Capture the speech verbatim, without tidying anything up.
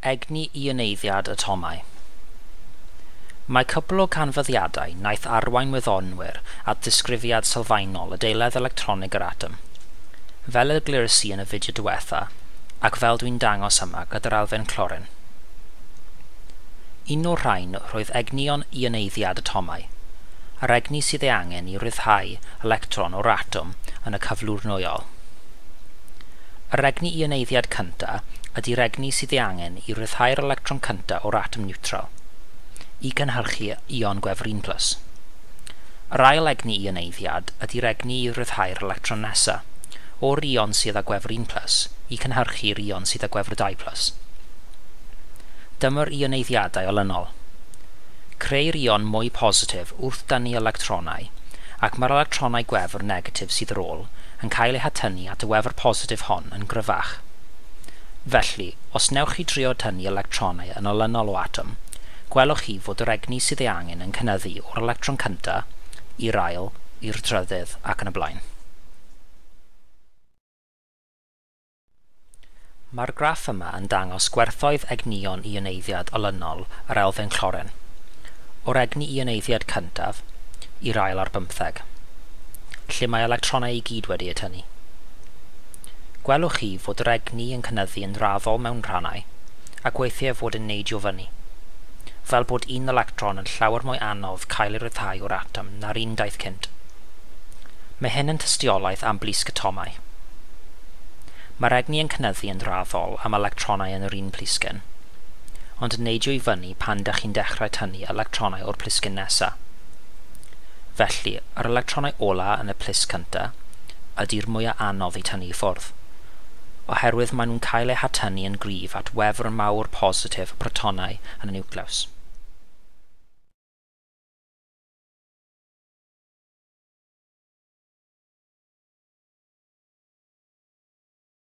Egni ioneiddiad atomau. Mae cwpl o canfyddiadau wnaeth arwain wyddonwyr at ddisgrifiad sylfaenol adeiledd electronig yr atom, fel y glires i yn y fideo diwetha, ac fel dwi'n dangos yma gyda'r elfen clorin. Un o'r rhain roedd egnion ioneiddiad atomau, a'r egni sydd ei angen i ryddhau electron o'r atom yn y cyflwr nwyol. Yr egni ioneiddiad cyntaf ydy'r egni sydd ei angen i ryddhau'r electron cyntaf o'r atom niwtral, i gynhyrchu ion gwefr un plus. Yr ail egni ioneiddiad ydy'r egni i ryddhau'r electron nesaf, o'r ion sydd â gwefr un plus, i cynhyrchu'r ion sydd â gwefr dau plus. Dyma'r ioneiddiadau olynol. Creu'r ion mwy positif wrth dynnu electronau, ac mae'r electronau gwefr negatif sydd ar ôl yn cael eu hatynnu at y wefr positif hon yn gryfach. Felly, os newch chi drio tynnu electronau yn olynol o atom, gwelwch chi fod yr egni sydd ei angen yn cynyddu o'r electron cyntaf i'r ail, i'r trydydd ac yn y blaen. Mae'r graff yma yn dangos gwerthoedd egnion ioneiddiad olynol yr elfen clorin, o'r egni ioneiddiad cyntaf i'r ail ar bymtheg, lle mae electronau i gyd wedi eu tynnu. Gwelwch chi fod yr egni yn cynyddu yn raddol mewn rhannau, ac weithiau fod yn neidio fyny, fel bod un electron yn llawer mwy anodd cael ei ryddhau o'r atom na'r un daeth cynt. Mae hyn yn tystiolaeth am blisg atomau. Mae'r egni yn cynyddu yn raddol am electronau yn yr un plisgyn, ond yn neidio i fyny pan dych chi'n dechrau tynnu electronau o'r plisgyn nesaf. Felly, yr electronau ola yn y plisg cyntaf ydy'r mwyaf anodd i tynnu i ffwrdd, oherwydd maen nhw'n cael eu hatynnu yn gryf at wefr mawr positif y protonau yn y niwclews.